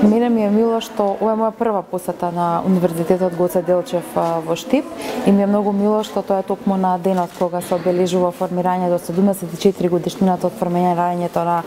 Мене ми е мило што ова е моја прва посета на Универзитетот Гоце Делчев во Штип и ми е многу мило што тоа е токму на денот кога се обележува формирањето 74 годишнината од формирањето на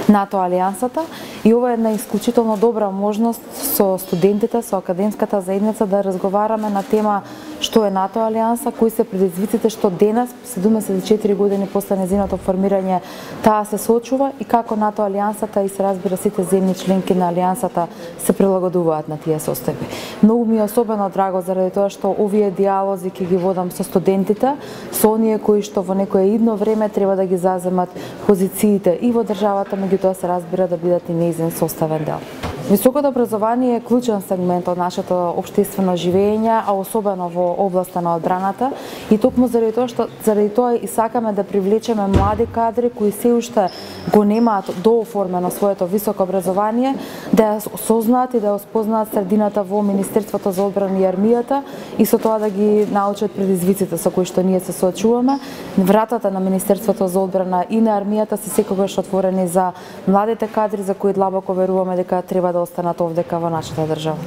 НАТО алијансата и ова е една исклучително добра можност со студентите, со академската заедница да разговараме на тема што е НАТО алијанса, кои се предизвиците што денес 74 години после нејзиното формирање таа се соочува и како НАТО алијансата и се разбира сите земји членки на алијансата се прилагодуваат на тие состојби. Многу ми е особено драго заради тоа што овие диалози ќе ги водам со студентите, со оние кои што во некое идно време треба да ги заземат позициите и во државата, меѓутоа се разбира да бидат и нејзин составен дел. Високото образование е клучен сегмент од нашето општествено живење, а особено во областа на одбраната и токму заради тоа и сакаме да привлечеме млади кадри кои се уште го немаат дооформено своето високо образование, да ја осознаат и да ја спознаат средината во Министерството за одбрана и армијата и со тоа да ги научат предизвиците со кои што ние се соочуваме. Вратата на Министерството за одбрана и на армијата се секогаш отворени за младите кадри за кои длабоко веруваме дека треба да останат овдека во нашата држава.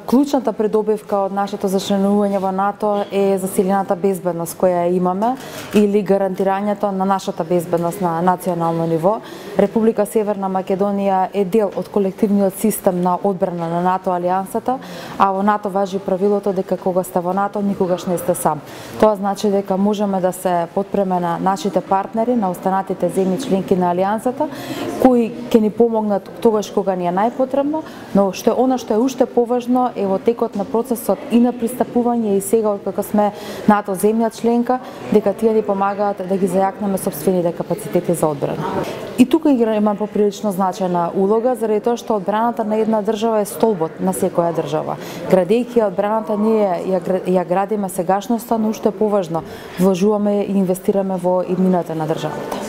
Клучната придобивка од нашето зачленување во НАТО е засилената безбедност која имаме или гарантирањето на нашата безбедност на национално ниво. Република Северна Македонија е дел од колективниот систем на одбрана на НАТО алијансата, а во НАТО важи правилото дека кога сте во НАТО никогаш не сте сам. Тоа значи дека можеме да се подпреме на нашите партнери, на останатите земји членки на алијансата, кои ќе ни помогнат тогаш кога ни е најпотребно, но она што е уште поважно е во текот на процесот и на пристапување и сега откако сме НАТО земја членка, дека тие ни помагаат да ги зајакнеме сопствените капацитети за одбрана. И тука има поприлично значајна улога, заради тоа што одбраната на една држава е столбот на секоја држава. Градејќи одбраната ние ја градиме сегашноста, но уште поважно вложуваме и инвестираме во иднината на државата.